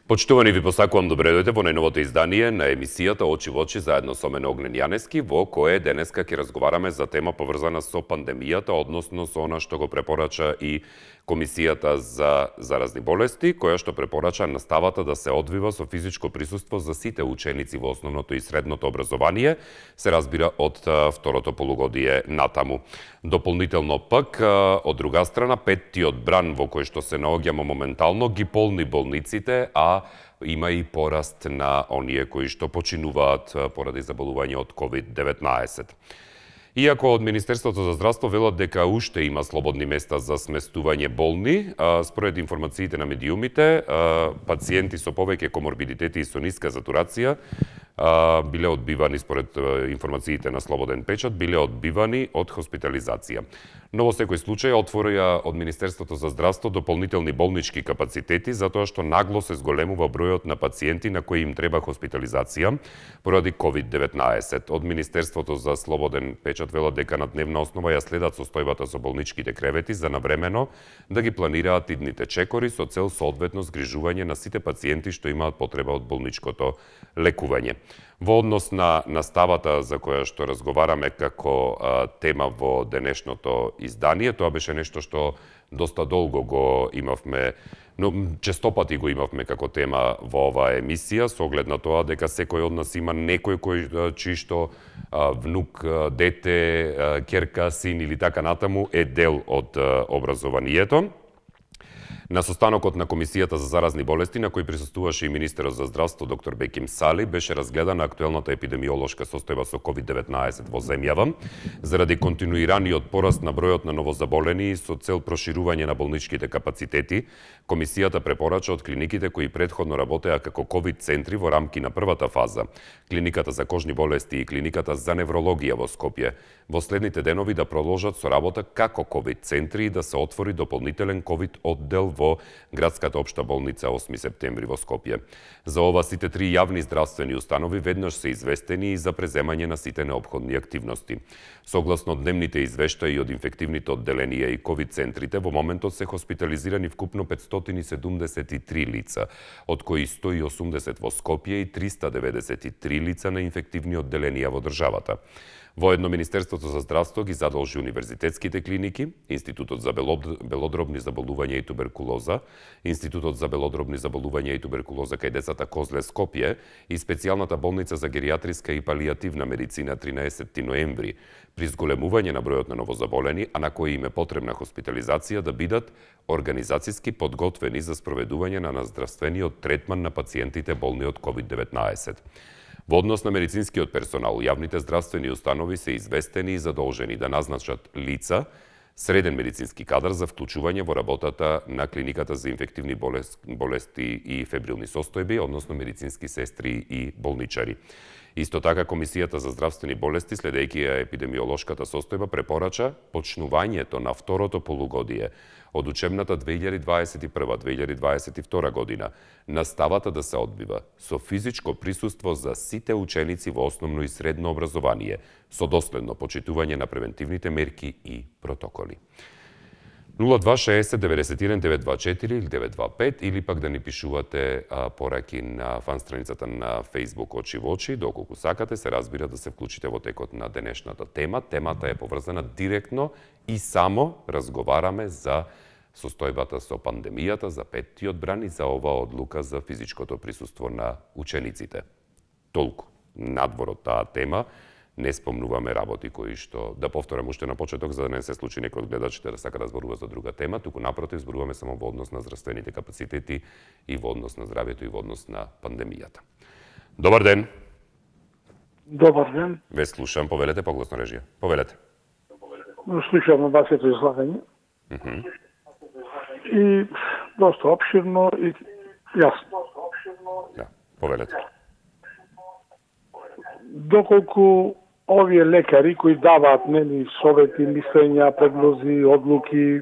Почитувани, ви посакувам добре дојде во најновото издание на емисијата Очи во очи заедно со мене Огнен Јанески, во кое денеска ќе разговараме за тема поврзана со пандемијата, односно со она што го препорача и Комисијата за заразни болести, која што препорача наставата да се одвива со физичко присуство за сите ученици во основното и средното образование, се разбира од второто полугодие натаму. Дополнително пак, од друга страна, петтиот бран во кој што се наоѓаме моментално ги полни болниците, а има и пораст на оние кои што починуваат поради заболување од COVID-19. Иако од Министерството за здравство велат дека уште има слободни места за сместување болни, според информациите на медиумите, пациенти со повеќе коморбидитети и со ниска сатурација биле одбивани, според информациите на Слободен печат, биле одбивани од хоспитализација. Но во секој случај отворија од Министерството за здравство дополнителни болнички капацитети, затоа што нагло се зголемува бројот на пациенти на кои им треба хоспитализација поради COVID-19. Од Министерството за Слободен печат велат дека на дневна основа ја следат состојбата со болничките кревети за навремено да ги планираат идните чекори со цел соодветно згрижување на сите пациенти што имаат потреба од болничкото лекување. Во однос на наставата за која што разговараме како тема во денешното издание, тоа беше нешто што доста долго го имавме, но честопати го имавме како тема во оваа емисија, со оглед на тоа дека секој од нас има некој чиј што внук, дете, ќерка, син или така натаму е дел од образованието. На состанокот на Комисијата за заразни болести, на кој присуствуваше и министерот за здравство доктор Беким Сали, беше разгледана актуелната епидемиолошка состојба со COVID-19 во земјава, заради континуираниот пораст на бројот на новозаболени и со цел проширување на болничките капацитети. Комисијата препорача од клиниките кои претходно работеа како ковид центри во рамки на првата фаза, клиниката за кожни болести и клиниката за неврологија во Скопје, во следните денови да продолжат со работа како ковид центри и да се отвори дополнителен ковид оддел во градската општа болница 8 септември во Скопје. За ова сите три јавни здравствени установи веднаш се известени и за преземање на сите неопходни активности. Согласно дневните извештаи од инфективните одделенија и ковид центрите, во моментот се хоспитализирани вкупно 573 лица, од кои 180 во Скопје и 393 лица на инфективни одделенија во државата. Воедно Министерството за здравство ги задолжи универзитетските клиники, Институтот за белодробни заболувања и туберкулоза, Институтот за белодробни заболувања и туберкулоза кај децата Козле Скопје и специјалната болница за геријатриска и палијативна медицина 13 ноември, при зголемување на бројот на новозаболени, а на кои им е потребна хоспитализација, да бидат организацијски подготвени за спроведување на наздравствениот третман на пациентите болни од COVID-19. Во однос на медицинскиот персонал, јавните здравствени установи се известени и задолжени да назначат лица, среден медицински кадар за вклучување во работата на клиниката за инфективни болести и фебрилни состојби, односно медицински сестри и болничари. Исто така, Комисијата за здравствени болести, следејќи ја епидемиолошката состојба, препорача почнувањето на второто полугодие од учебната 2021-2022 година наставата да се одбива со физичко присуство за сите ученици во основно и средно образование, со доследно почитување на превентивните мерки и протоколи. 0260 91 924 или 925 или пак да ни пишувате пораки на фан страницата на Facebook Очи во очи, доколку сакате, се разбира да се вклучите во текот на денешната тема. Темата е поврзана директно и само разговараме за состојбата со пандемијата, за петтиот бран и за оваа одлука за физичкото присуство на учениците. Толку надвор од таа тема. Не спомнуваме работи кои што, да повторам уште на почеток, за да не се случи некој од гледачите да сака да зборува за друга тема, туку напротив зборуваме само во однос на здравствените капацитети и во однос на здравјето и во однос на пандемијата. Добар ден. Добар ден. Ве слушам, повелете погласно режија. Повелете. Слушам вашето излагање. И доста опширно и јасно. Да, повелете. Доколку овие лекари кои даваат совети, мислења, предлози, одлуки,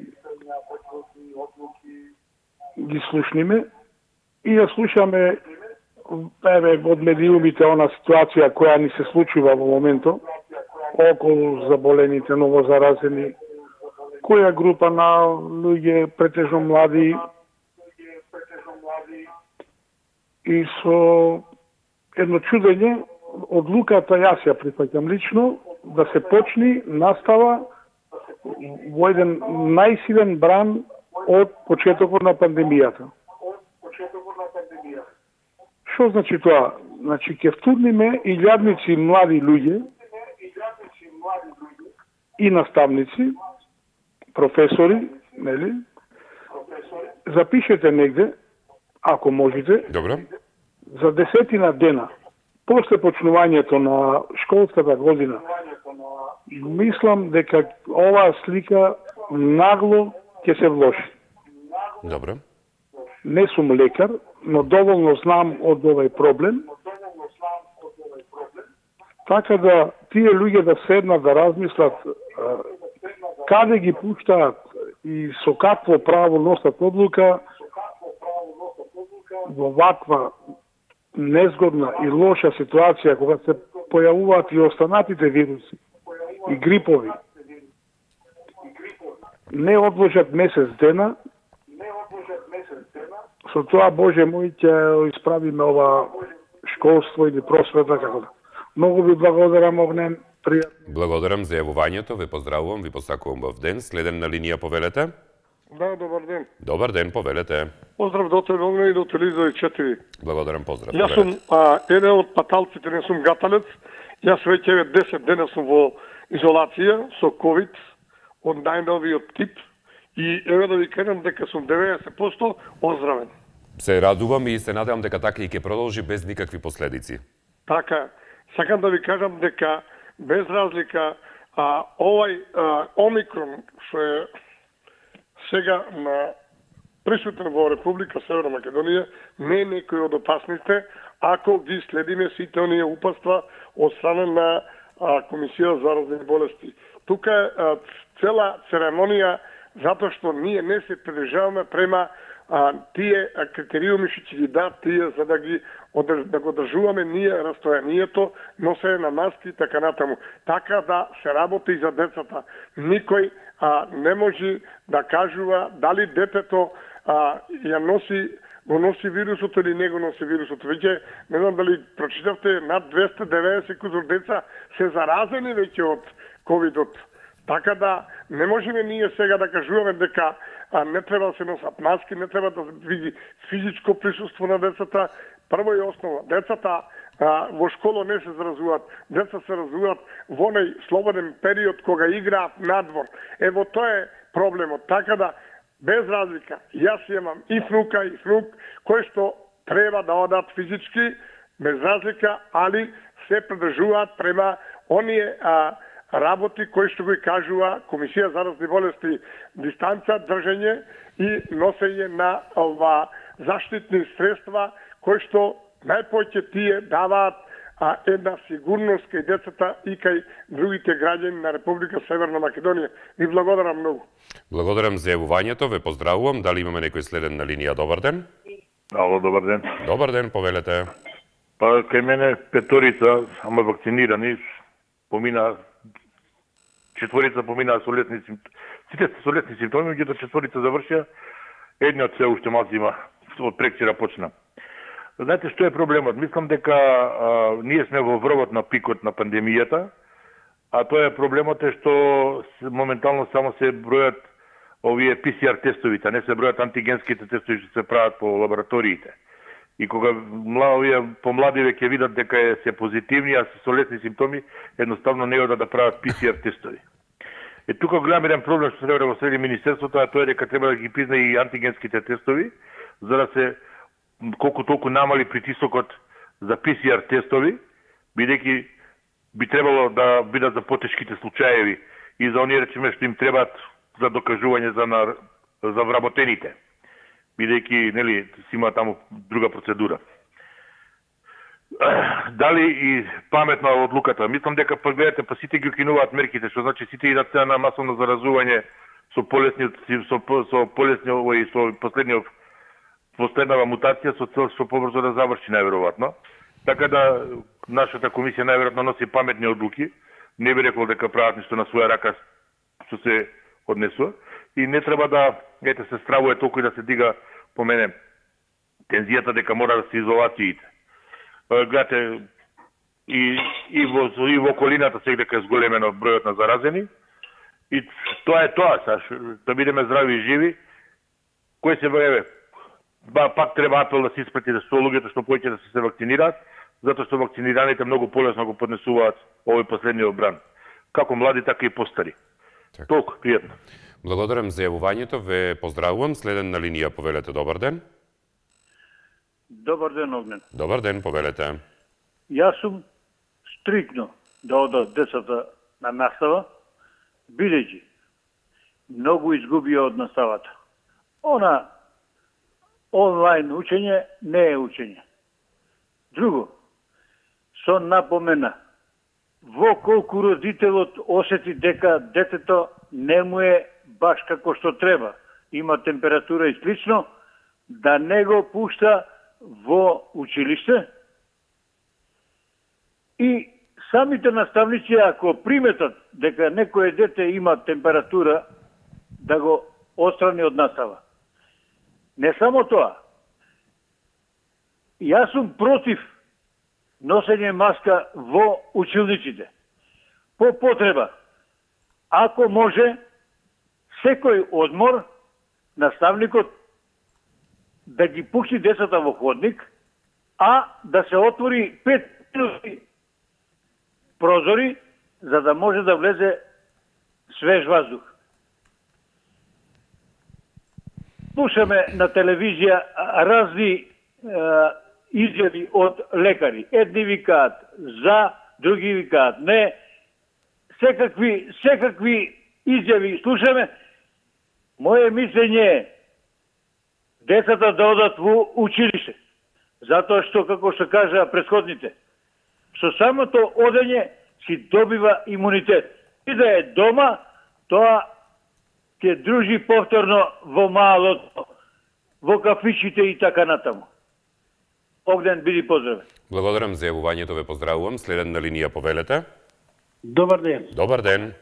ги слушниме и ја слушаме од медиумите она ситуација која ни се случува во моментот околу заболените, новозаразени, која група на луѓе, претежно млади, и со едно чудење одлуката јас ја прифаќам лично да се почни настава во еден најсилен бран од почетокот на пандемијата. Што значи тоа? Значи, ќе втурниме илјадници млади луѓе и наставници, професори, нели? Запишете негде, ако можете, Добро. за 10 дена, после почнувањето на школската година, мислам дека оваа слика нагло ќе се влоши. Добро. Не сум лекар, но доволно знам од овој проблем. Така да тие луѓе да седнат да размислат каде ги пуштаат и со какво право носат одлука во ваква незгодна и лоша ситуација кога се појавуваат и останатите вируси и грипови. Не одложат месец дена. Со тоа, Боже мој, ќе исправиме ова школство или просвета, како да. Многу ви благодарам, Огнен. Пријатно. Благодарам за јавувањето, ве поздравувам, ви посакувам в ден. Следен на линија, повелете. Да, добар ден. Добар ден, повелете. Поздрав до тебе, Огнен, и до телевизија 4. Благодарам, поздрав. Јас сум еден од паталците, не сум гаталец. Јас веќе 10 дена сум во изолација со COVID од најновиот тип и еве да ви кажам дека сум 90% оздравен. Се радувам и се надевам дека така и ќе продолжи без никакви последици. Така, сакам да ви кажам дека без разлика овај омикрон што е сега на присутен во Република Северна Македонија не е некој од опасните ако ги следиме сите оние упатства од страна на Комисија за заразни болести. Тука е цела церемонија затоа што ние не се придржаваме према тие критериуми што ќе ги дадат тие за да го држуваме ние растојанието, носење на маски и така натаму. Така да се работи и за децата. Никој не може да кажува дали детето го носи вирусот или не го носи вирусот. Веќе, не знам дали прочитавте, над 290 кузор деца се заразени веќе од ковидот. Така да не можеме ние сега да кажуваме дека не треба да се носат маски, не треба да види физичко присуство на децата. Прво и основа, децата во школа не се заразуваат, деца се заразуваат во оној слободен период кога играат надвор. Ево тоа е проблемот. Така да без разлика, јас имам и внука и внук кои што треба да одат физички, без разлика, али се придржуваат према оние работи кои што го кажува Комисија за заразни болести, дистанца, држење и носење на заштитни средства кои што најпоќе тие даваат една сигурност кај децата и кај другите граѓани на Република Северна Македонија. Ви благодарам многу. Благодарам за јавувањето, ве поздравувам. Дали имаме некој следен на линија? Добар ден. Ало, добар ден. Добар ден, повелете. Па кај мене петорица, ама вакцинирани, помина четворица поминаа со лесни симптоми. Сите со лесни симптоми, меѓутоа четворица завршија, едниот се уште малку има, од прекчера почна. Знаете што е проблемот? Мислам дека ние сме во врвот на пикот на пандемијата, а тоа е проблемот е што моментално само се бројат овие PCR тестовите, не се бројат антигенските тестови што се прават по лабораториите. И кога овие помладиве ќе видат дека се позитивни, а се со лесни симптоми, едноставно не одат да прават PCR тестови. Е тука голем еден проблем што треба да го следи министерството, а тоа е дека треба да ги призна и антигенските тестови, за да се колку толку намали притисокот за PCR тестови, бидејќи би требало да бидат за потешките случаеви и за оние речеме што им требаат за докажување за вработените. Бидејќи, нели, си има таму друга процедура. Дали и паметна одлуката? Мислам дека гледате, па сите ги укинуваат мерките, што значи сите идат на масовно заразување со последнава мутација со цел што побрзо да заврши најверојатно. Така да нашата комисија најверојатно носи паметни одлуки. Не би рекол дека прават ништо на своја рака што се однесува и не треба да се стравува толку и да се дига по мене тензијата дека мора да се изолациите. Гледате, и во околината сега дека е зголемено бројот на заразени. И тоа е тоа, да бидеме здрави и живи. Кој се време, пак треба апел да се испрати со луѓето што повеќе да се вакцинираат, затоа што вакцинираните многу полесно го поднесуваат овој последниот бран. Како млади, така и постари. Толку, пријатно. Благодарам за јавувањето, ве поздравувам. Следен на линија, повелете, добар ден. Добар ден, Огнен. Добар ден, повелете. Јас сум стрикно да одат децата на настава, бидејќи многу изгубија од наставата. Она онлайн учење не е учење. Друго, со напомена, во колку родителот осети дека детето не му е баш како што треба, има температура и слично, да не го пушта во училиште, и самите наставници, ако приметат дека некој дете има температура, да го отстрани од настава. Не само тоа. Јас сум против носење маска во училниците. По потреба, ако може, секој одмор, наставникот да ги пушти децата во ходник, а да се отвори 5 минути прозори, за да може да влезе свеж воздух. Слушаме на телевизија разни изјави од лекари. Едни викаат за, други викаат не. Секакви изјави слушаме. Моje мислење е децата да одат во училиште. Затоа што, како што кажа претходните, со самото одење си добива имунитет. И да е дома, тоа ќе дружи повторно во малото, во кафичите и така натаму. Огнен, биди поздравен. Благодарам за јавувањето, ве поздравувам. Следен на линија, повелете. Добар ден. Добар ден.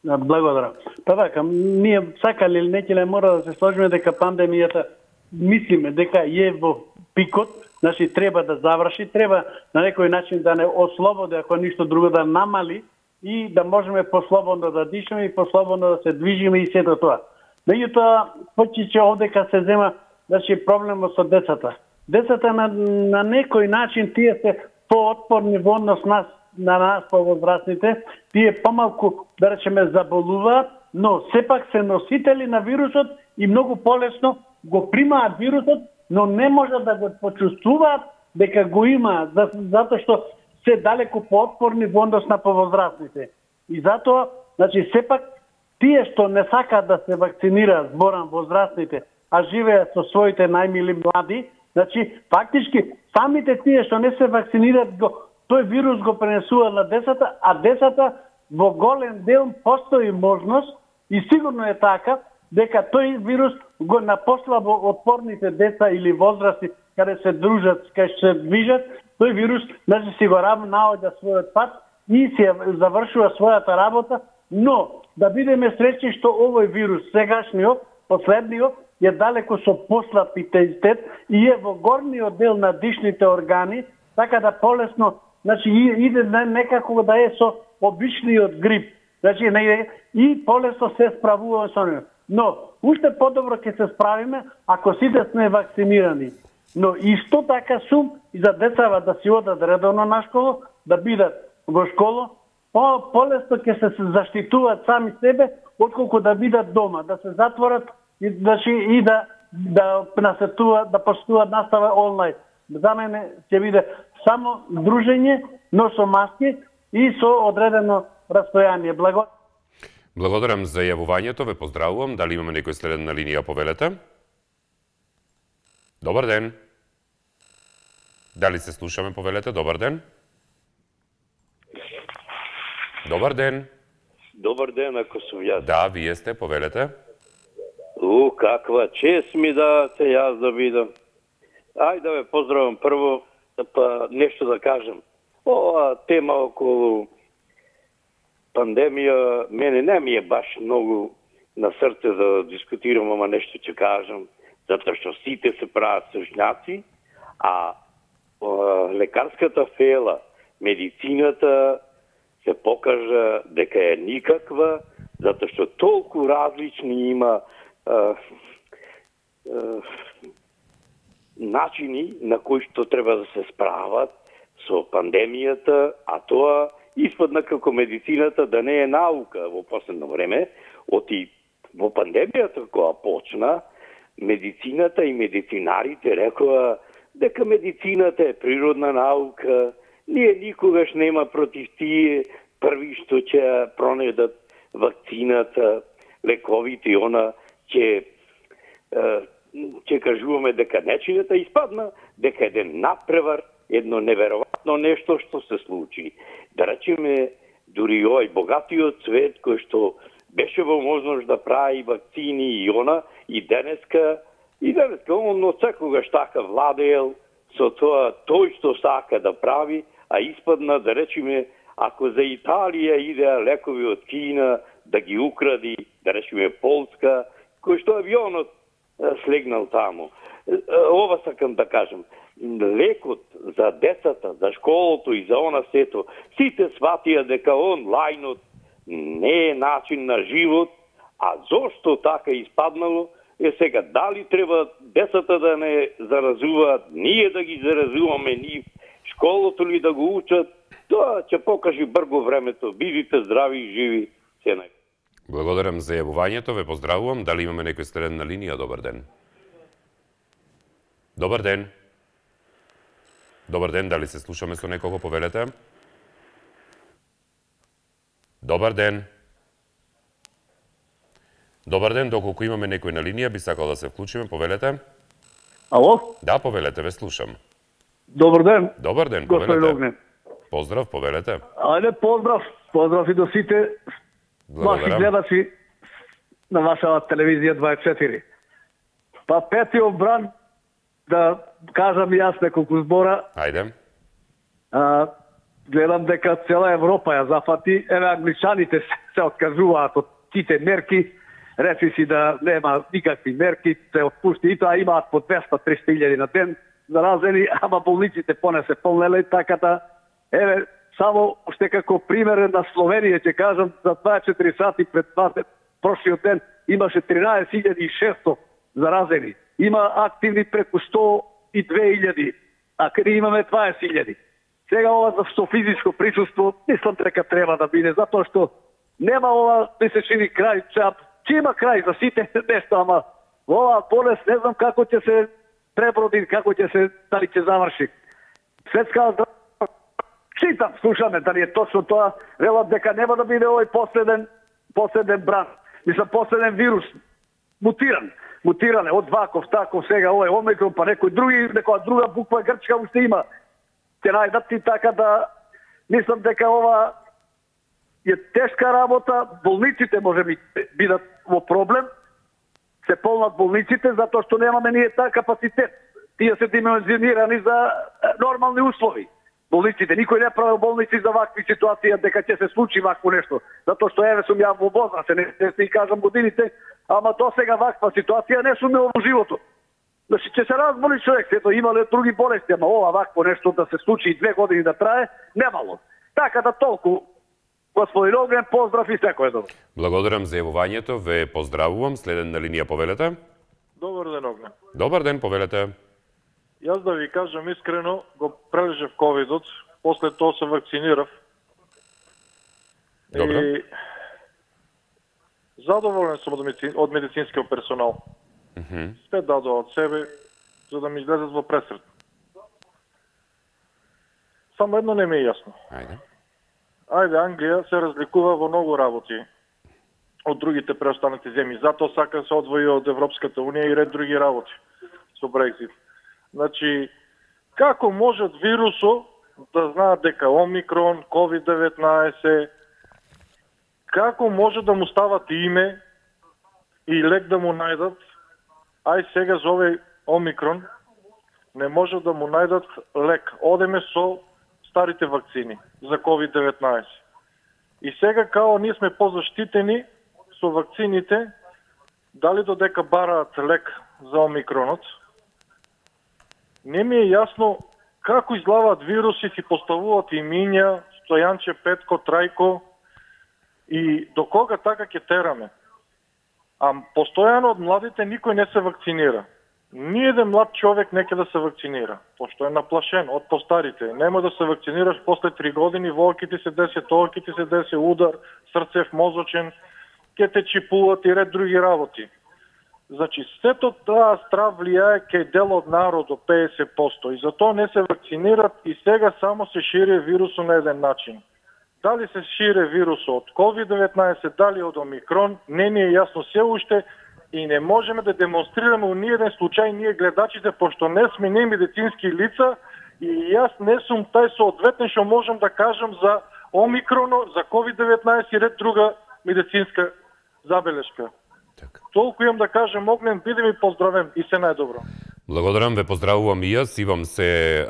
Благодарам. Па така, ние сакале или некеле мора да се сложиме дека пандемијата, мислиме дека е во пикот, значи треба да заврши, треба на некој начин да не ослободи, ако ништо друго да намали и да можеме послободно да дишеме и послободно да се движиме и сето тоа. Меѓутоа, почиќе овдека се зема, значи проблемот со децата. Децата на некој начин тие се поотпорни во однос на нас повозрастните, тие помалку, да речеме, заболуваат, но сепак се носители на вирусот и многу полесно го примаат вирусот, но не можат да го почувствуваат дека го имаат, затоа што се далеку поотпорни во однос на повозрастните. И затоа, значи, сепак, тие што не сакаат да се вакцинираат, зборам, возрастните, а живеат со своите најмили млади, значи, фактички, самите тие што не се вакцинираат, тој вирус го пренесува на децата, а децата во голем дел постои можност, и сигурно е така, дека тој вирус го напослабо отпорните деца или возрасти, каде се дружат, каде се движат, тој вирус, значи, си го наоѓа својот пат и се завршува својата работа, но да бидеме среќни што овој вирус, сегашниот, последниот, е далеко со послаб интензитет и е во горниот дел на дишните органи, така да полесно, значи, иде некако да е со обичниот грип. Значи, и полесно се справува со него. Но, уште подобро ќе се справиме ако сите сме вакцинирани. Но исто така сум и за децава да си одат редовно на школа, да бидат во школа, полесно ќе се заштитуваат сами себе, отколку да бидат дома, да се затворат и да насетуваат, да постуваат настава онлайн. За мене ќе биде само дружење, но со маски и со одредено растојание. Благодарам за јавувањето, ве поздравувам. Дали имаме некој следен на линија, повелете? Добар ден. Дали се слушаме, повелете? Добар ден. Добар ден. Добар ден, ако сум јас. Да, вие сте, повелете. Каква чест ми да те јас да видам. Ајде да ве поздравам прво, па нешто да кажам. Ова тема околу пандемија, мене не ми е баш многу на срце да дискутирам, ама нешто ќе кажам. затоа што сите се прават сушњаци, а лекарската фела, медицината се покажа дека е никаква, затоа што толку различни има начини на кои што треба да се справат со пандемијата, а тоа испадна како медицината да не е наука во последно време. Во пандемијата која почна, медицината и медицинарите рекоа дека медицината е природна наука, ние никогаш нема против тие први што ќе пронедат вакцината, лековите и она ќе кажуваме дека нечината испадна, дека еден напревар, едно неверојатно нешто што се случи. Да речеме, дури овој богатиот свет кој што беше во можност да прави вакцини и она, и денеска он од секогаш така владеел со тоа тој што сака да прави, а испадна, да речеме, ако за Италија идеа лекови од Кина да ги укради, да речеме Полска, кој што авионот слегнал таму. Ова сакам да кажам. Лекот за децата, за школото и за она сето, сите сватија дека онлајнот не е начин на живот, а зошто така испаднало, сега дали треба децата да не заразуваат, ние да ги заразуваме нив, школото ли да го учат, тоа ќе покаже брго времето. Бидите здрави и живи. Благодарам за јавувањето, ве поздравувам. Дали имаме некој следен на линија? Добар ден. Добар ден. Добар ден, дали се слушаме со некого, повелете? Добар ден. Добар ден, доколку имаме некој на линија, би сакал да се вклучиме, повелете? Ало? Да, повелете, ве слушам. Добар ден. Добар ден, Господин повелете. Огнен. Поздрав, повелете. Ајде, поздрав. Поздрав и до сите ваши гледачи на вашата телевизија 24. Па петиот бран, да кажам јас неколку збора. Ајде. Гледам дека цела Европа ја зафати. Еве, англичаните се откажуваат од тите мерки. Речи си да нема никакви мерки, се отпусти и тоа имаат по 200-300 илјади на ден заразени, ама болниците поне се полнеле, така да, еве, само уште како пример на Словенија ќе кажам, за 24 сати пред прошлиот ден имаше 13.600 заразени. Има активни преку 102.000, а каде имаме 20.000. Сега ова за физичко присуство, мислам дека треба да биде, затоа што нема ова месечини крај, ќе има крај за сите нешто, ама ова болест не знам како ќе се преброди, како ќе се, дали ќе заврши. Светска читам, слушаме, дали е точно тоа, велат дека нема да биде овој последен бран. Мислам, последен вирус, мутиран од ваков, таков, сега овој омикрон, па некој друга буква грчка уште има. Ќе најдат и така да, мислам дека ова е тешка работа, болниците може би бидат во проблем, се полнат болниците, затоа што немаме ние таа капацитет. Тие се димензионирани за нормални услови. Болниците, никој не прави болници за вакви ситуации, дека ќе се случи вакво нешто. Затоа што еве сум ја во возраст, не се кажам годините, ама до сега ваква ситуација не сум во животот. Значи, ќе се разболи човек, ето имале други болести, ама ова вакво нешто да се случи и 2 години да трае, немало. Така да толку. Господин Огнен, поздрав и секој добро. Благодарам за јавувањето, ве поздравувам. Следен на линија, повелете. Добар ден, Огнен. Добар ден, повелете. Јас да ви кажам искрено, го прележав ковидот, после тоа се вакцинирав. Добро. И задоволен сум од медицинскиот персонал. Спет дадоа од себе, за да ми излезат во пресрет. Само едно не ми е јасно. Ајде, Англија се разликува во многу работи од другите преостанати земји. Затоа сака се одвои од Европската Унија и ред други работи со Брекзит. Значи, како можат вирусо да знаат дека Омикрон, COVID-19, како може да му стават име и лек да му најдат, ај сега за овој Омикрон не може да му најдат лек. Одеме со старите вакцини за COVID-19. И сега као ние сме позаштитени со вакцините, дали додека бараат лек за омикронот. Не ми е јасно како изглаваат вируси, си поставуваат имиња, Стојанче, Петко, Трајко и до кога така ќе тераме. А постојано од младите никој не се вакцинира. Ниеден млад човек не ќе да се вакцинира, пошто е наплашен од постарите. Нема да се вакцинираш после 3 години, во ќе ти се деси тоа, ќе ти се деси удар, срцев, мозочен, ќе те чипуват и ред други работи. Значи, сето таа страв влијае кај дел од народот 50% и затоа не се вакцинират и сега само се шири вирусот на еден начин. Дали се шири вирусот од COVID-19, дали од Омикрон, не ни е јасно се уште и не можеме да демонстрираме у ниеден случај ние гледачите, пошто не сме не медицински лица и јас не сум тај соодветен што можам да кажам за Омикроно, за COVID-19 и ред друга медицинска забелешка. Толку имам да кажем, Огнен, биде ми поздравен и се најдобро. Благодарам, ве поздравувам и јас, имам се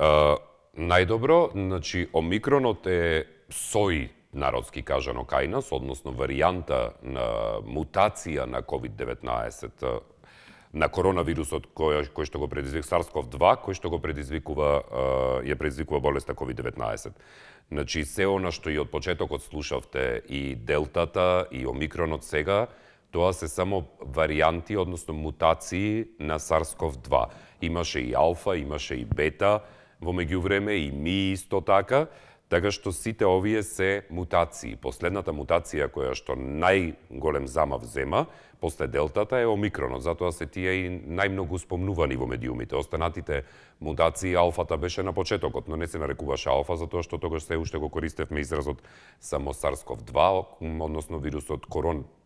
најдобро. Значи, Омикронот е сој народски кажано кај нас, односно варијанта на мутација на COVID-19, на коронавирусот кој што го предизвикува SARS-CoV-2, кој што го предизвикува болеста COVID-19. Значи, се она што и од почетокот слушавте, и Делтата, и Омикронот сега, тоа се само варијанти, односно мутации на SARS-CoV-2. Имаше и алфа, имаше и бета во меѓувреме, и ми исто така, така што сите овие се мутации. Последната мутација која што најголем замав зема после Делтата е Омикронот, затоа се тие и најмногу спомнувани во медиумите. Останатите мутации, алфата беше на почетокот, но не се нарекуваше алфа, затоа што тогаш се уште го користевме изразот само SARS-CoV-2, односно вирусот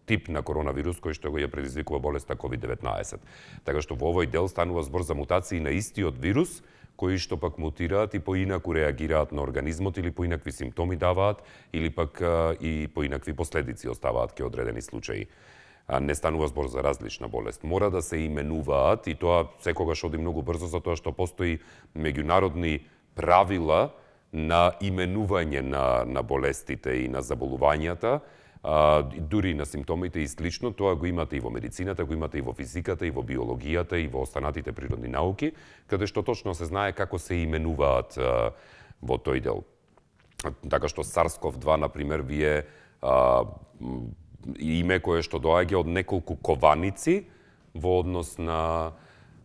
тип на коронавирус кој што го ја предизвикува болеста COVID-19. Така што во овој дел станува збор за мутации на истиот вирус, кои што пак мутираат и поинаку реагираат на организмот или поинакви симптоми даваат, или пак и поинакви последици оставаат ке одредени случаи. Не станува збор за различна болест. Мора да се именуваат и тоа секогаш оди многу брзо, затоа што постои меѓународни правила на именување на болестите и на заболувањата, дури на симптомите и слично. Тоа го имате и во медицината, го имате и во физиката, и во биологијата, и во останатите природни науки, каде што точно се знае како се именуваат во тој дел. Така што SARS-CoV-2, например, вие име кое што доаѓа од неколку кованици во однос на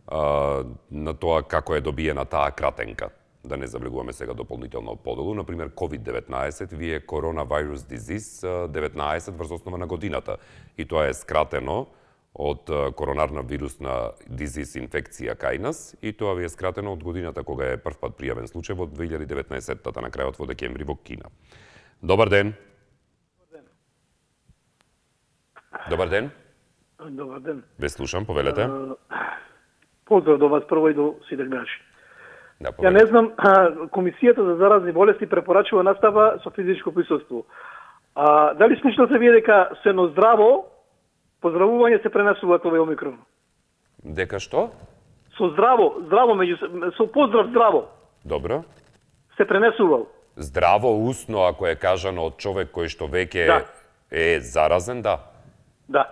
тоа како е добиена таа кратенка. Да не завлегуваме сега дополнително поделу. Например, COVID-19 вие Coronavirus Disease 19 врз основа на годината. И тоа е скратено од коронарна вирусна дизиз инфекција кај нас, и тоа ви е скратено од годината кога е првпат пријавен случај во 2019-та, на крајот во декември во Кина. Добар ден. Добар ден. Добар ден. Ве слушам, повелете. Поздрав до вас прво и до сите гледачи. Да, ја не знам, Комисијата за заразни болести препорачува настава со физичко присуство. Дали слушнате вие дека сено здраво, поздравување се пренесуваат овој Омикрон? Дека што? Со здраво со поздрав здраво. Добро. Се пренесувал. Здраво усно, ако е кажано од човек кој што веќе е заразен, да. Да.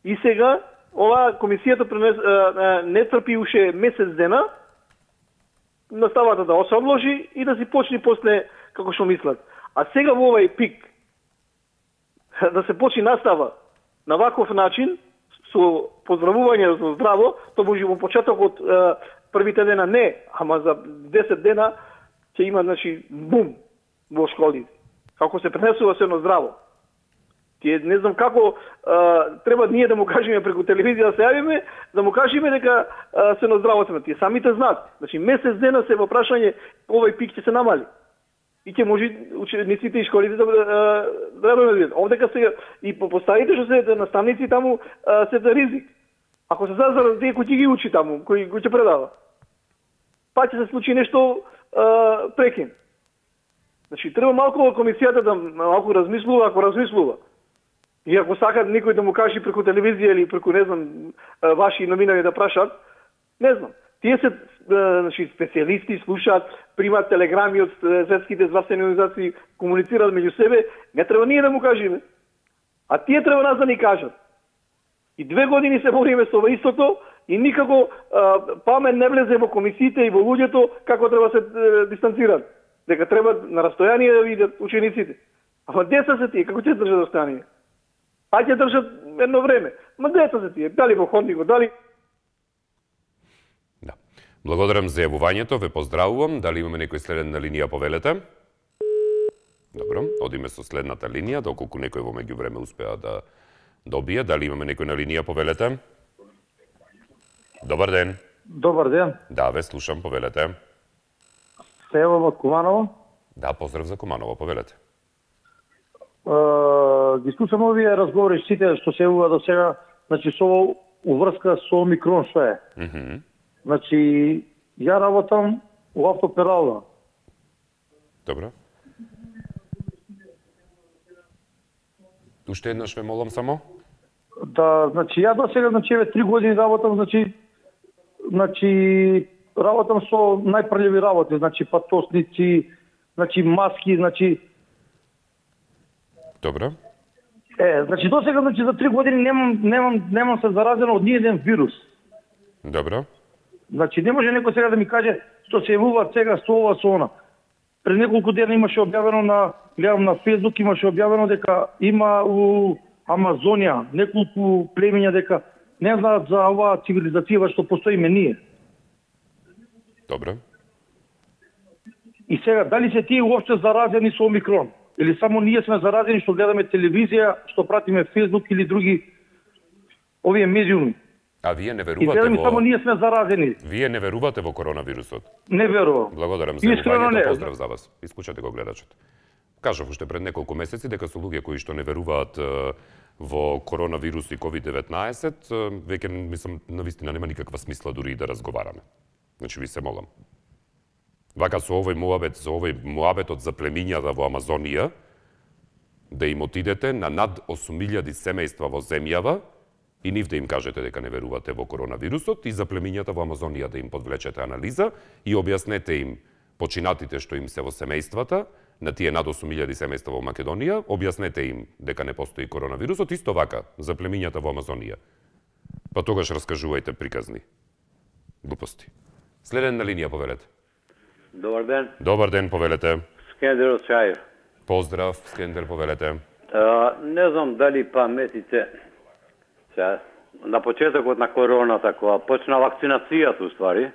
И сега, ова комисијата не трпи уште месец дена, наставата да се одложи и да си почне после како што мислат. А сега во овој пик да се почне настава на ваков начин со поздравување за здраво, тоа може во почетокот првите дена не, ама за 10 дена ќе има, значи, бум во школите. Како се пренесува сено здраво. Тие не знам како треба ние да му кажеме преку телевизија да се јавиме, да му кажеме дека сено здраво сме. Тие самите знаат. Значи месец дена се во прашање овој пик ќе се намали. И ќе може учениците и школите да видат. Овдека сега и поставите што се наставници таму се за ризик. Ако се зазарат тие кои ги учи таму, кои ќе предава, па ќе се случи нешто прекин. Значи треба малку комисијата да малку размислува, ако размислува. И ако сакат никој да му каже преку телевизија или преку, не знам, ваши новинари да прашат, не знам. Тие се, значи, специјалисти, слушаат, примат телеграми од светските здравствени организации, комуницираат меѓу себе, не треба ние да му кажеме. А тие треба нас да ни кажат. И 2 години се бориме со ова истото, И никако памет не влезе во комисиите и во луѓето како треба се дистанцираат. Дека треба на растојание да видат учениците. Ама деца се тие, како ќе држат растојание? А ќе држат едно време. Ма деца се тие, дали во ходникот, дали... Да. Благодарам за јавувањето, ве поздравувам. Дали имаме некој следен на линија, повелете? Добро, одиме со следната линија, доколку некој во меѓувреме успеа да добие. Дали имаме некој на линија, повелете? Добар ден. Добар ден. Да, ве слушам, повелете. Сево од Куманово. Да, поздрав за Куманово, повелете. Ги слушам овие разговори сите што се ува до сега, значи со уврска со омикрон што е. Значи ја работам во автоперална. Добро. Уште еднаш ве молам само. Да, значи ја до сега, значи 3 години работам, значи работам со најпрљави работи, значи патосници, значи маски, значи. Добро. Значи до сега, значи за 3 години немам се заразено од ниеден вирус. Добро. Значи не може некој сега да ми каже што се јавува сега со ова со она. Пред неколку дена имаше објавено гледам на Facebook, имаше објавено дека има у Амазонија неколку племиња дека не знаат за оваа цивилизација што постоиме ние. Добро. И сега, дали се тие уопште заразени со омикрон? Или само ние сме заразени што гледаме телевизија, што пратиме Facebook или други овие медиуми? А вие не И верувате во... само ние сме заразени. Вие не верувате во коронавирусот? Не верувам. Благодарам за јавувањето, поздрав за вас. Исклучете го гледачот. Кажав уште пред неколку месеци дека со луѓе кои што не веруваат во коронавирус и COVID-19, веќе мислам навистина нема никаква смисла дури и да разговараме. Значи ви се молам. Вака со овој муабетот за племињата во Амазонија, да им отидете на над 8.000 семејства во земјава и нив да им кажете дека не верувате во коронавирусот и за племињата во Амазонија да им подвлечете анализа и објаснете им починатите што им се во семејствата, на тие над 8.000 семејства во Македонија, објаснете им дека не постои коронавирусот, исто вака за племињата во Амазонија. Па тогаш раскажувајте приказни глупости. Следен на линија, повелете. Добар ден. Добар ден, повелете. Скендер од Чаев. Поздрав, Скендер, повелете. Не знам дали паметите на почетокот на короната, кога почна вакцинацијата уствари,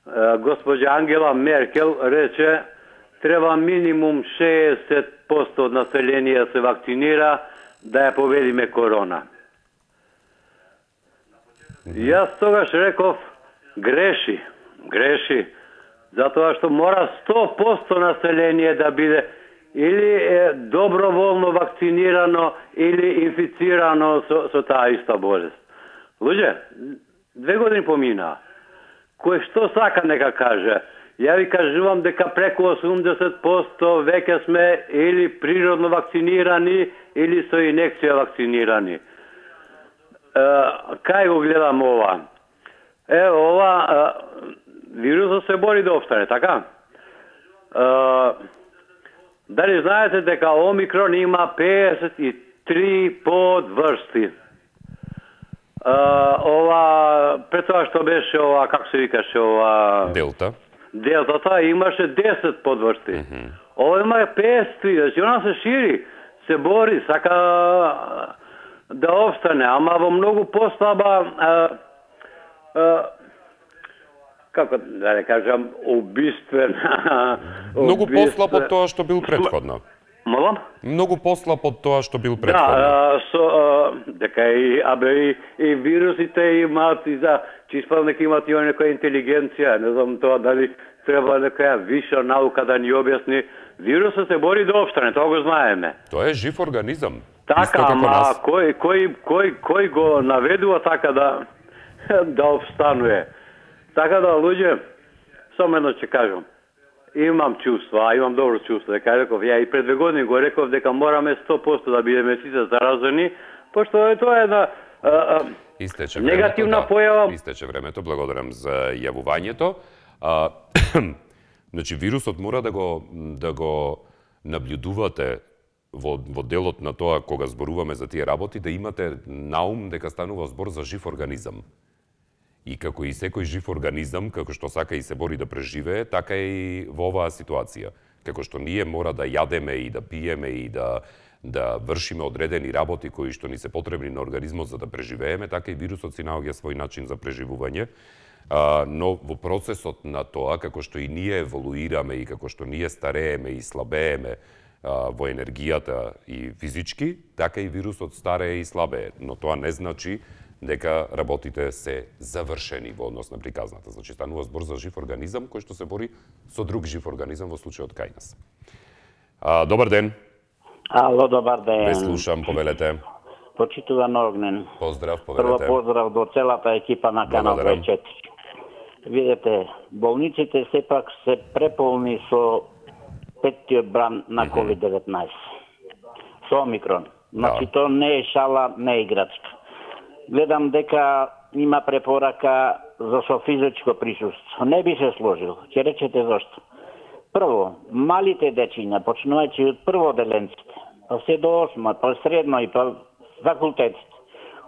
госпоѓа Ангела Меркел рече треба минимум 60% од население да се вакцинира да ја победиме корона. Јас тогаш реков греши, затоа што мора 100% население да биде или доброволно вакцинирано или инфицирано со таа иста болест. Луѓе, 2 години поминаа. Кој што сака нека каже. Ја ви кажувам дека преку 80% веќе сме или природно вакцинирани или со инекција вакцинирани. Кај го гледам ова? Ова вирусот се бори да обстане, така? Дали знаете дека омикрон има 53 подврсти? Ова, пред тоа што беше ова, како се викаше ова... Делтата имаше 10 подврсти. Ова има 53, значи она се шири, се бори, сака да обстане, ама во многу послаба, како да не кажам, убиствен. Многу послаб од тоа што бил претходно. Молам? Многу послаб од тоа што бил претходно. Да, дека и вирусите имаат и за чиспал нека имаат и некоја интелигенција, не знам тоа дали треба некоја виша наука да ни објасни. Вирусот се бори да обстане, тоа го знаеме. Тоа е жив организам. Така, ама кој го наведува така да обстанува? Така да, луѓе, само едно ќе кажам. Имам чувства, имам добро чувство, дека реков, ја и пред 2 години го реков дека мораме 100% да бидеме сите заразени, пошто тоа е една негативна појава. Истече времето, благодарам за јавувањето. Значи, вирусот мора да го наблюдувате во делот на тоа кога зборуваме за тие работи, да имате наум дека станува збор за жив организам. И како и секој жив организам, како што сака и се бори да преживее, така и во оваа ситуација. Како што ние мора да јадеме и да пиеме и да вршиме одредени работи кои што ни се потребни на организмот за да преживееме, така и вирусот си наоѓа свој начин за преживување. Но во процесот на тоа, како што и ние еволуираме и како што ние старееме и слабееме во енергијата и физички, така и вирусот старее и слабее. Но тоа не значи дека работите се завршени во однос на приказната. Значи, станува збор за жив организам кој што се бори со друг жив организам, во случајот кај нас. Добар ден. Ало, добар ден. Ве слушам, повелете. Почитуван Огнен. Поздрав, повелете. Прво поздрав до целата екипа на Канал 24. Видете, болниците сепак се преполни со петтиот бран на COVID-19. Со Омикрон. Значи, тоа не е шала, не е играчка. Гледам дека има препорака за со физичко присуство. Не би се сложил. Ќе речете зашто. Прво, малите дечиња, почнувајќи од прводеленците, па се до 8, па средно и па факултетите,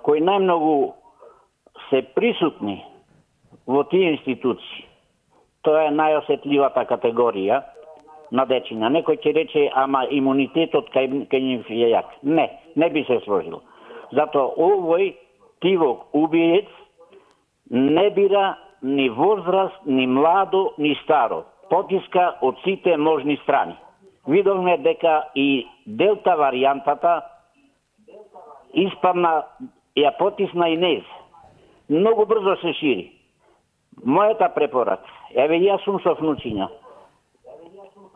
кои најмногу се присутни во тие институции, тоа е најосетливата категорија на дечиња. Некој ќе рече, ама имунитетот кај нив е јак. Не би се сложил. Затоа овој тивок убиец не бира ни возраст, ни младо, ни старо. Потиска од сите можни страни. Видовме дека и делта варијантата испадна, ја потисна и нез. Многу брзо се шири. Мојата препорака, еве јас сум со внучиња.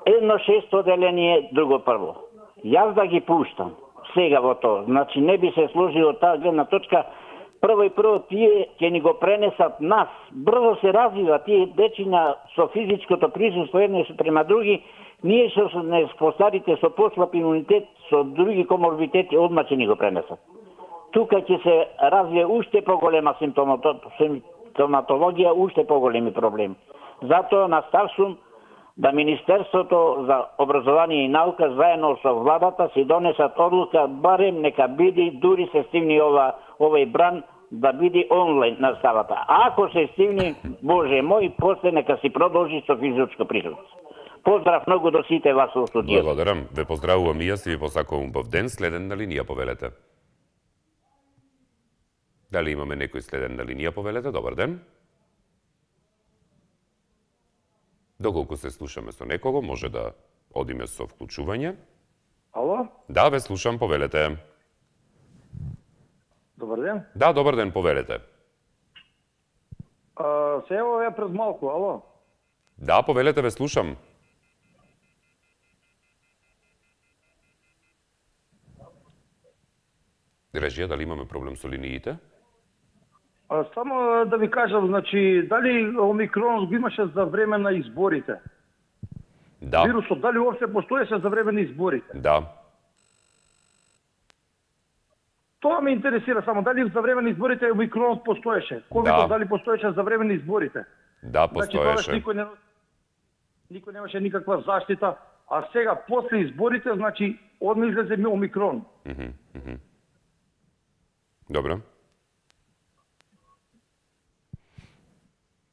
Едно 6 оделение, друго прво. Јас да ги пуштам сега во тоа. Значи не би се сложило таа гледна точка. Прво и прво тие ќе ни го пренесат нас. Брзо се развива тие дечиња со физичкото присуство едни према други. Ние со постарите со послаб имунитет, со други коморбитети одма ќе ни го пренесат. Тука ќе се развие уште поголема симптоматологија, уште поголеми проблеми. Затоа наставсум да Министерството за образование и наука заедно со владата си донесат одлука, барем нека биде, дури се стивни овој бран, да биде онлайн наставата. Ако се стивни, Боже мој, после нека си продолжи со физичко присуство. Поздрав многу до сите вас во студиото. Благодарам. Ве поздравувам и јас и ви посакувам убав ден. Следен на линија, повелете. Дали имаме некој следен на линија, повелете? Добар ден. Доколку се слушаме со некого, може да одиме со вклучување. Ало? Да, ве слушам, повелете. Добар ден. Да, добар ден, повелете. Се ево ја пред малку, ало? Да, повелете, ве слушам. Режија, дали имаме проблем со линиите? Само да ви кажам, значи, дали Омикронот го имаше за време на изборите? Да. Вирусот, дали уопште постоеше за време на изборите? Да. Тоа ме интересира само, дали за време на изборите Омикронот постоеше? Ковидот дали постоеше за време на изборите? Да, постоеше. Значи, никој немаше никаква заштита, а сега, после изборите, значи, одма излезе ми Омикрон. Добро.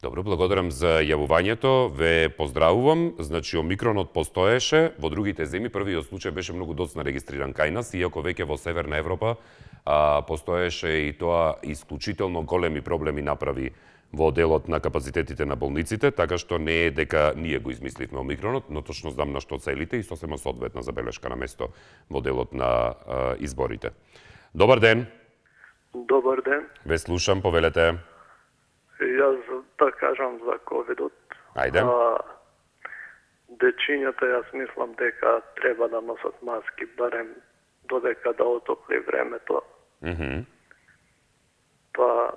Добро, благодарам за јавувањето. Ве поздравувам. Значи, Омикронот постоеше. Во другите земји првиот случај беше многу доцна регистриран кај нас, иако веќе во Северна Европа постоеше и тоа исклучително големи проблеми направи во делот на капацитетите на болниците, така што не е дека ние го измисливме Омикронот, но точно знам на што целите и сосема соодветна забелешка на место во делот на изборите. Добар ден. Добар ден. Ве слушам, повелете. Јас да кажам за ковидот. Ајде. Дечињата јас мислам дека треба да носат маски барем додека да отопли времето. Па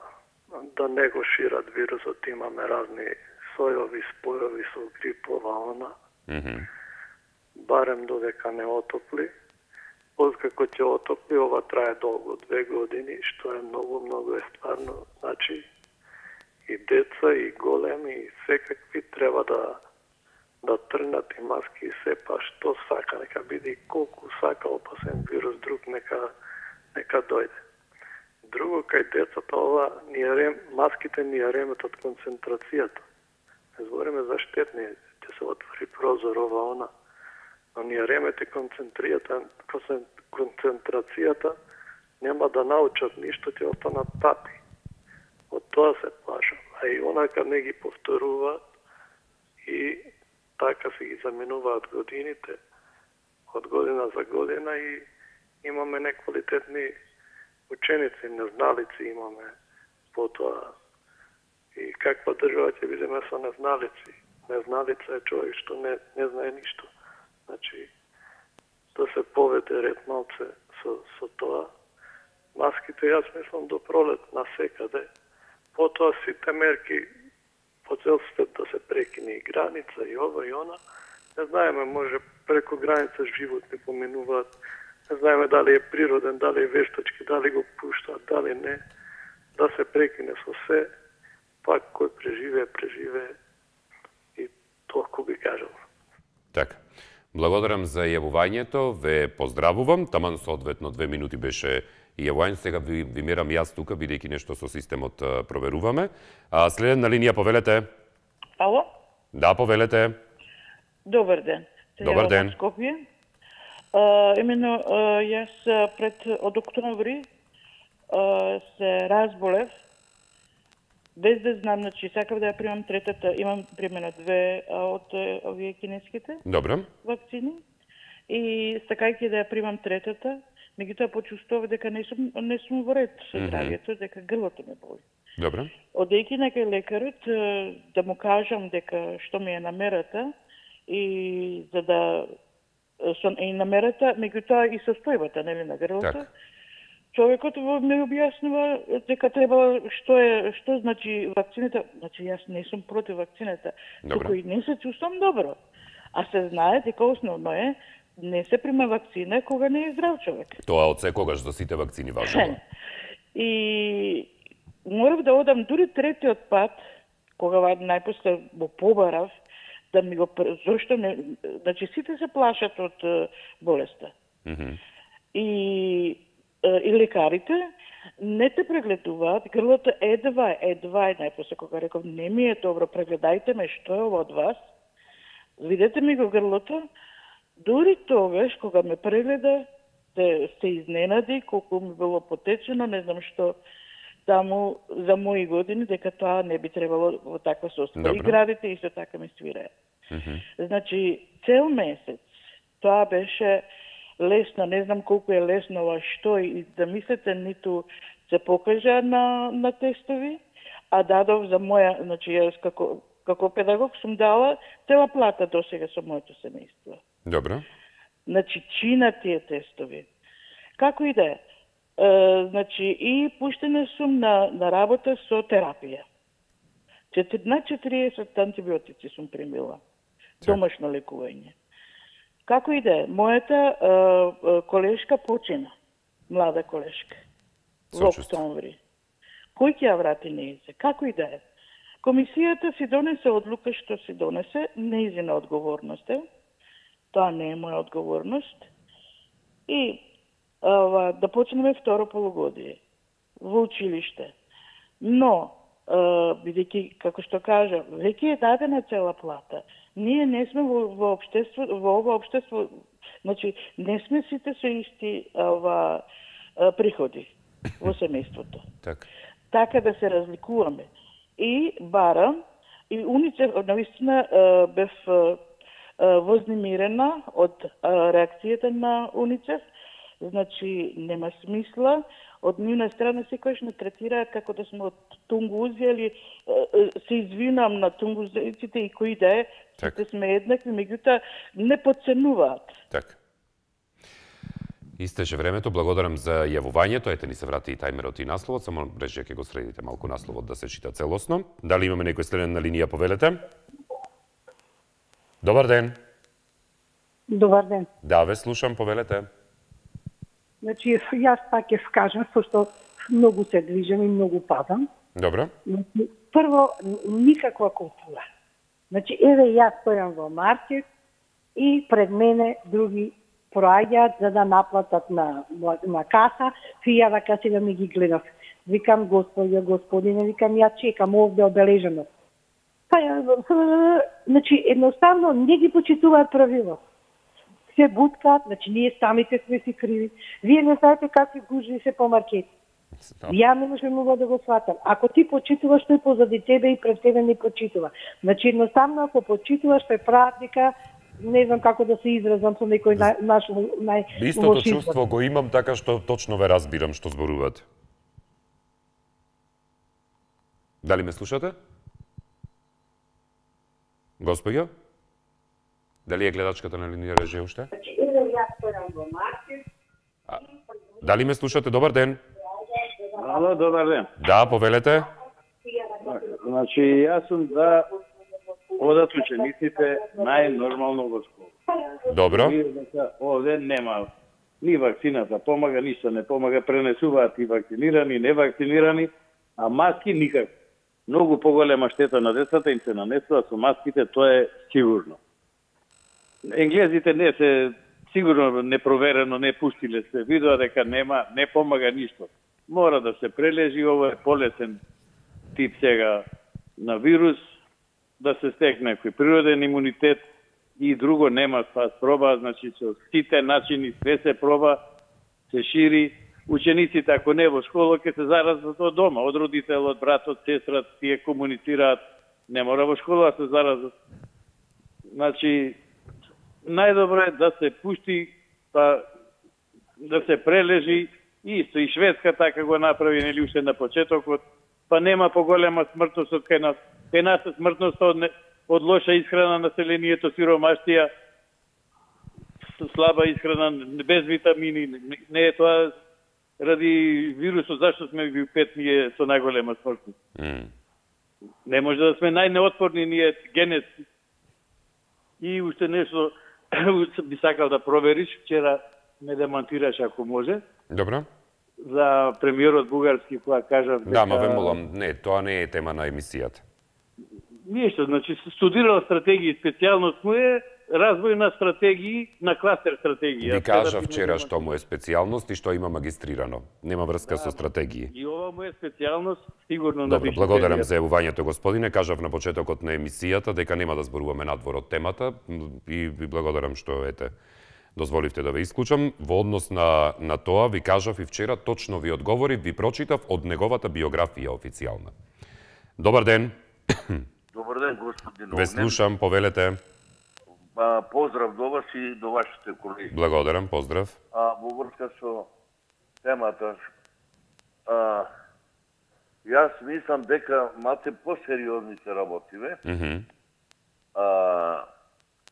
да не го шират вирусот, имаме разни сојови, спојови со грипова она. Барем додека не отопли. Откако ќе отопли, ова трае долго, 2 години, што е многу е стварно. Значи, и деца, и големи, и секакви треба да трнат и маски и се, па што сака, нека биде колку сака опасен вирус друг, нека дојде. Друго, кај децата ова, маските ни ја реметат концентрацијата. Не збориме за штетни, ќе се отвори прозор, ова, она. Но ни ја ремете концентрацијата, нема да научат ништо, ќе останат тати. Од тоа се плашам. А и онака не ги повторуваат и така се ги заменуваат годините, од година за година и имаме неквалитетни ученици, незналици имаме потоа. И каква држава ќе бидеме со незналици? Незналица е човек што не знае ништо. Значи, да се поведе ред малце со тоа. Маските, јас мислам, до пролет насекаде. Потоа сите мерки по цел свет да се прекине и граница, и ова, и она. Не знаеме, може преку граница животни поминуваат. Не знаеме дали е природен, дали е вештачки, дали го пуштаат, дали не. Да се прекине со се. Пак кој преживее и толку би кажал. Така. Благодарам за јавувањето, ве поздравувам. Таман соодветно 2 минути беше јавување. Сега ви мерам јас тука, бидејќи нешто со системот проверуваме. Следен на линија, повелете. Ало? Да, повелете. Добар ден. Добар ден. Скопје. Именно јас од октомври се разболев, без да знам, значи сакав да ја примам третата, имам примено 2 од овие кинеските вакцини и сакајќи да ја примам третата, меѓутоа почувствував дека не сум во ред со здравието, дека грлото ме боли. Добро. Одејќи некај лекарот да му кажам дека што ми е намерата и за да и намерата, меѓутоа и состојбата, нели, на грлото. Човекот ми објаснува дека треба што значи вакцината. Значи јас не сум против вакцината, туку и не се чувствам добро. А се знае дека основно е не се прима вакцина кога не е здрав човек. Тоа од секогаш за сите вакцини важно. И морав да одам дури третиот пат, кога најпосле го побарав, да ми го зошто не, значи сите се плашат од болеста. И лекарите не те прегледуваат, грлото едва најпосле кога реков не ми е добро, прегледајте ме што е ова од вас. Видете ми го грлото. Дури тогаш кога ме прегледа, се изненади колку ми било потечено, не знам што таму за мои години, дека тоа не би требало во таква состојба. И градите исто така ми свираат. Значи, цел месец тоа беше лесно, не знам колку е лесно ова што и да мислите, ниту се покажа на тестови, а дадов за моја, значи јас како педагог сум дала цела плата досега со моето семејство. Добро. Значи, чина тие тестови. Како и да е. Значи, и пуштена сум на работа со терапија. На 40 антибиотици сум примила. Домашно лекување. Како и да е, мојата колешка почина, млада колешка, во октомври. Кој ќе ја врати нејзе? Како и да е. Комисијата си донесе одлука што си донесе, нејзина одговорност е. Тоа не е моја одговорност. И да почнеме второ полугодие во училиште. Но, бидејќи, како што кажа, веќе е дадена цела плата. Ние не сме во ова општество, значи, не сме сите со исти приходи во семејството. Така да се разликуваме. И барам, и УНИЦЕФ, наистина бев вознемирена од реакцијата на УНИЦЕФ, значи нема смисла, од нивна страна секојаш не третираат како да сме од тунгузи, или се извинам на тунгузиците и кои да е, сите сме еднакви, меѓутоа не подценуваат. Така. Истече времето, благодарам за јавувањето. Ете ни се врати и тајмерот и насловот, само рече ќе го средите малку насловот да се чита целосно. Дали имаме некој следен на линија, повелете? Добар ден. Добар ден. Да, ве слушам, повелете. Значи, јас пак ќе скажам, што многу се движам и многу падам. Добро. Значи, прво, никаква култура. Значи, еве јас стојам во маркет и пред мене други проаѓаат за да наплатат на каса, фијава каси да ми ги гледав. Викам, господине, викам, ја чекам овде обележено. Значи, едноставно не ги почитуваат правила. Се буткаат, значи ние самите сме си криви. Вие не знаете какви гужви се по маркети. Ја не можем да го сватам. Ако ти почитуваш, тој позади тебе и пред тебе не почитува. Значи, едноставно, ако почитуваш, тој прават дека, не знам како да се изразам со некој наш Истото чувство го имам, така што точно ве разбирам што зборувате. Дали ме слушате? Господјо? Дали е гледачката на линија режи уште? Дали ме слушате? Добар ден. Ало, добар ден. Да, повелете. Значи, јас сум да одат учениците најнормално во школа. Добро. Овде нема ни вакцината помага, ништо не помага, пренесуваат и вакцинирани, и невакцинирани, а маски никак. Многу поголема штета на децата им се нанесува со маските, тоа е сигурно. Енглезите не се сигурно непроверено не пуштиле, се видува дека не помага ништо. Мора да се прележи, ова е полесен тип сега на вирус, да се стекне некој природен имунитет и друго нема спас проба, значи со сите начини све се проба, се шири. Учениците ако не во школа ќе се заразат од дома, од родител, од брат, од сестра, тие комуницираат, не мора во школа да се заразат. Значи најдобро е да се пушти, па да се прележи. Исто и Шведска така го направи, нели уште на почетокот, па нема поголема смртност од кај нас. Кај нас е смртноста од лоша исхрана, населението сиромаштија, слаба исхрана, без витамини. Не е тоа ради вирусот, зашто сме ви пет ние со најголема смртност. Не може да сме најнеотпорни ние генетски. И уште нешто би сакал да провериш, вчера ме демонтираш ако може. Добро. За премиерот бугарски која кажав дека... Да, ма ве молам, не, тоа не е тема на емисијата. Ништо, значи студирал стратегии, специјалност му е развој на стратегии, на кластер стратегии. Ви кажа вчера што му е специјалност и што има магистрирано. Нема врска со стратегии. И ова му е специјалност, сигурно на Добро, благодарам за јавувањето, господине. Кажав на почетокот на емисијата дека нема да зборуваме надвор од темата и ви благодарам што дозволивте да ве исклучам. Во однос на тоа ви кажав и вчера, точно ви одговорив, ви прочитав од неговата биографија официјална. Добар ден. Добар ден, господин Огнен. Ве слушам, повелете. Поздрав до вас и до вашите колеги. Благодарам, поздрав. Во врска со темата, јас мислам дека мате посериозни се работиве.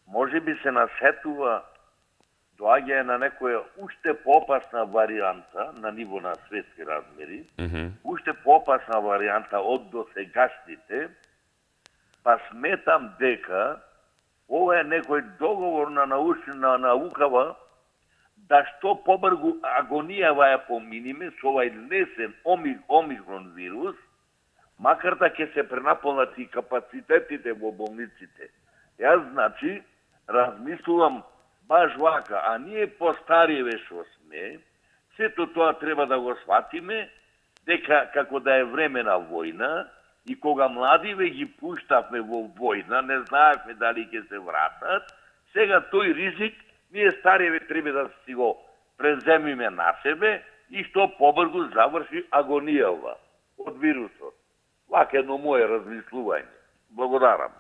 Може би се насетува доаѓање на некоја уште поопасна варијанта на ниво на светски размери, уште поопасна варијанта од досегашните, па сметам дека ова е некој договор на наукава да што побргу агонијава ја поминиме со овај лесен омикрон вирус, макар да ќе се пренаполнат и капацитетите во болниците. Јас, значи, размислувам баш вака, а ние постариве што сме, сето тоа треба да го сватиме, дека како да е време на војна, и кога младиве ги пуштавме во војна, не знаевме дали ќе се вратат, сега тој ризик, ние стариве треба да си го преземиме на себе и што побрзо заврши агонијава од вирусот. Вака едно мое размислување. Благодарам.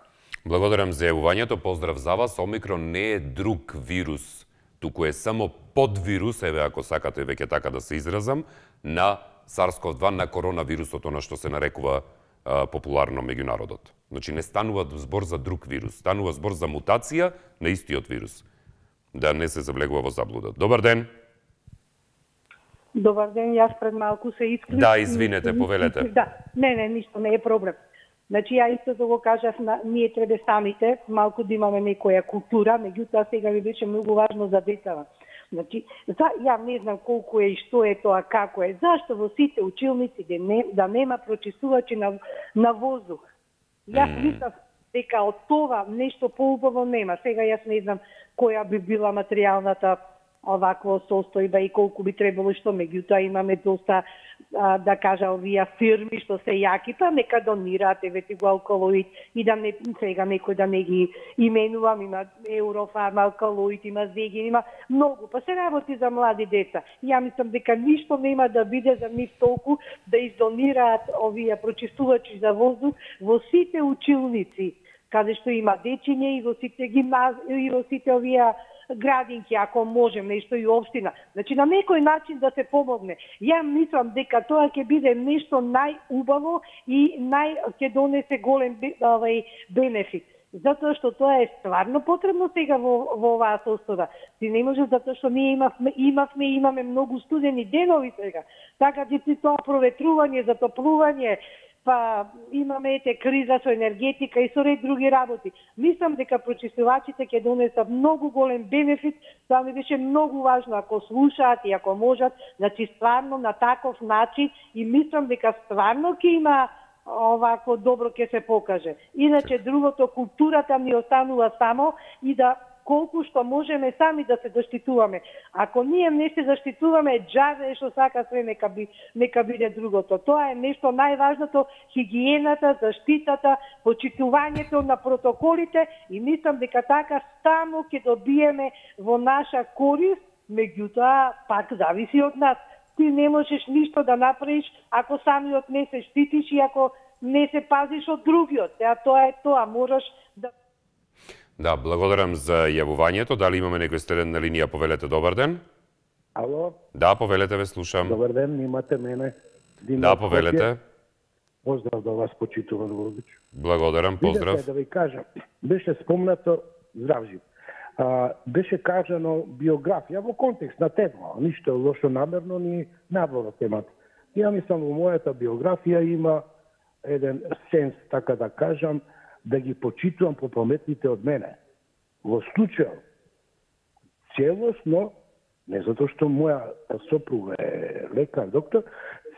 Благодарам за јавувањето, поздрав за вас. Омикрон не е друг вирус, туку е само подвирус, еве ако сакате веќе така да се изразам, на SARS-CoV-2, на коронавирусот, она што се нарекува популарно меѓу народот. Значи не станува збор за друг вирус, станува збор за мутација на истиот вирус. Да не се завлегува во заблуда. Добар ден. Добар ден, јас пред малку се исклучив. Да, извинете, повелете. Да, не, ништо не е проблем. Значи, ја исто да го кажав, ние треба самите малку да имаме некоја култура, меѓутоа сега ми беше многу важно за децата. Значи, ја не знам колку е и што е тоа, како е. Зашто во сите училници да нема прочистувачи на воздух? Јас мислам дека од това нешто поубаво нема. Сега јас не знам која би била материјалната оваква состојба и колку би требало што, меѓутоа имаме доста да кажа, овие фирми што се јаки, па нека донираат, еве го алкалоид, и да не сега некој да не ги именувам, има Еврофарма, алкалоид, има Зегин, има многу, па се работи за млади деца. Ја мислам дека ништо нема да биде за нив толку да издонираат овие прочистувачи за воздух во сите училници, каде што има дечиња, и во сите гимназии, и во сите овие градинки, ако можем, нешто и општина. Значи, на некој начин да се помогне. Ја мислам дека тоа ќе биде нешто најубаво и ќе донесе голем бенефит. Затоа што тоа е стварно потребно сега во оваа состојба. Ти не може, затоа што ние имаме многу студени денови сега. Така ти тоа проветрување, затоплување, па имаме криза со енергетика и со ред други работи. Мислам дека прочистувачите ќе донесат многу голем бенефит, тоа ми беше многу важно ако слушаат и ако можат, значи стварно на таков начин, и мислам дека стварно ќе има овако добро ќе се покаже. Иначе другото, културата ни останува само и да колку што можеме сами да се заштитуваме. Ако ние не се заштитуваме, џабе што сака све нека биде другото. Тоа е нешто најважното, хигиената, заштитата, почитувањето на протоколите, и мислам дека така само ќе добиеме во наша корист, меѓутоа пак зависи од нас. Ти не можеш ништо да направиш ако самиот не се штитиш и ако не се пазиш од другиот. Тоа е тоа, можеш да... Да, благодарам за јавувањето. Дали имаме некој следен на линија? Повелете, добар ден. Ало? Да, повелете, ве слушам. Добар ден, имате мене. Да, повелете. Поздрав до вас, почитуван Володич. Благодарам, поздрав. Видете, да ви кажам, беше спомнато, здрав жив, беше кажано биографија во контекст на тема, ништо лошо намерно ни надвор од темата. Ја мислам, во мојата биографија има еден сенс, така да кажам, да ги почитувам попаметните од мене. Во случај, целосно, не затоа што моја сопруга е лекар, доктор,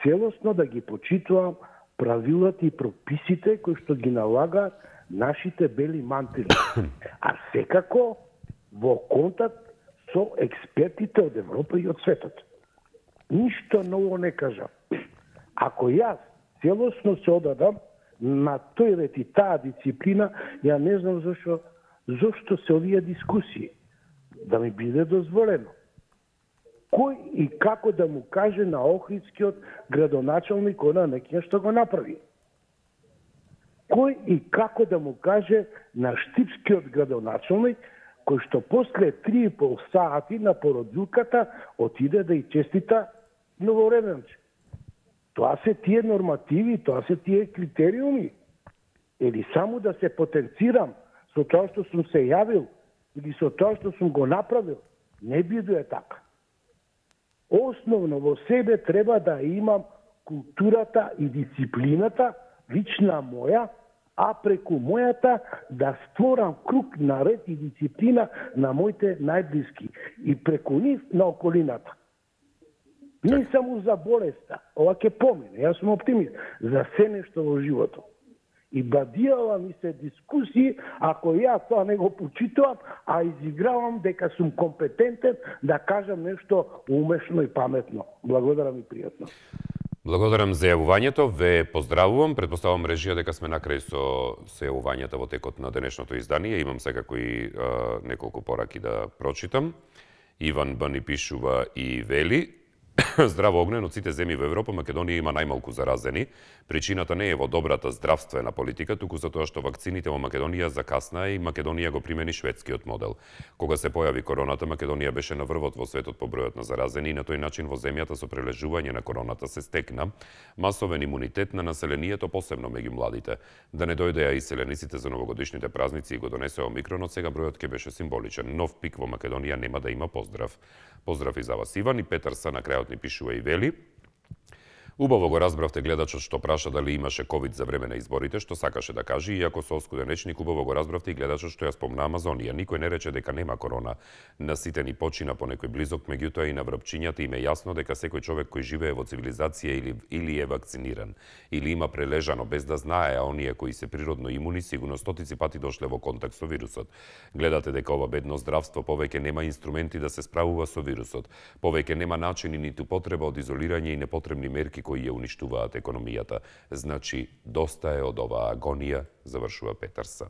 целосно да ги почитувам правилата и прописите кои што ги налага нашите бели мантили. А секако во контакт со експертите од Европа и од светот. Ништо ново не кажам. Ако јас целосно се одадам на тој ред и таа дисциплина, ја не знам зошто се овие дискусии. Да ми биде дозволено. Кој и како да му каже на Охридскиот градоначалник она некоја што го направи? Кој и како да му каже на Штипскиот градоначалник кој што после 3,5 сати на породилката отиде да и честита новореденче? Тоа се тие нормативи, тоа се тие критериуми. Или само да се потенцирам со тоа што сум се јавил, или со тоа што сум го направил, не биде така. Основно во себе треба да имам културата и дисциплината, лична моја, а преку мојата да створам круг на ред и дисциплина на моите најблиски и преку нив на околината. Не само за болеста, ова ќе помине, јас сум оптимист, за се нешто во животот. И бадијала ми се дискусии, ако јас тоа не го почитувам, а изигравам дека сум компетентен да кажам нешто умешно и паметно. Благодарам и пријатно. Благодарам за јавувањето, ве поздравувам. Претпоставувам режија дека сме накрај со јавувањата во текот на денешното издание. Имам секако и неколку пораки да прочитам. Иван Б. ни пишува и вели: Здраво огнен, од сите земји во Европа, Македонија има најмалку заразени. Причината не е во добрата здравствена политика, туку за тоа што вакцините во Македонија закаснаа и Македонија го примени шведскиот модел. Кога се појави короната, Македонија беше на врвот во светот по бројот на заразени и на тој начин во земјата со прележување на короната се стекна масовен имунитет на населението, посебно меѓу младите. Да не дојдеа иселениците за новогодишните празници и го донесе омикронот, сега бројот ќе беше символичен. Нов пик во Македонија нема да има поздрав. Поздрав и за вас, Иван. И Петар Са на крајот ни пишува и вели: Убаво го разбравте гледачот што праша дали имаше ковид за време на изборите, што сакаше да каже, иако со оскуден речник убаво го разбравте и гледачот што ја спомна Амазонија. Никој не рече дека нема корона. На сите ни почина по некој близок, меѓутоа и на врапчињата им е јасно дека секој човек кој живее во цивилизација или е вакциниран, или има прележано без да знае, а оние кои се природно имуни сигурно стотици пати дошле во контакт со вирусот. Гледате дека ова бедно здравство повеќе нема инструменти да се справува со вирусот. Повеќе нема начини ниту потреба од изолирање и непотребни мерки кои ја уништуваат економијата. Значи, доста е од оваа агонија, завршува Петерса.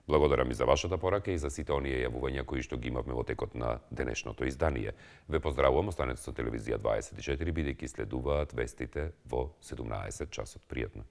Благодарам и за вашата порака и за сите оние јавувања кои што ги имавме во текот на денешното издание. Ве поздравувам, останете со телевизија 24, бидејќи следуваат вестите во 17 часот. Пријатно.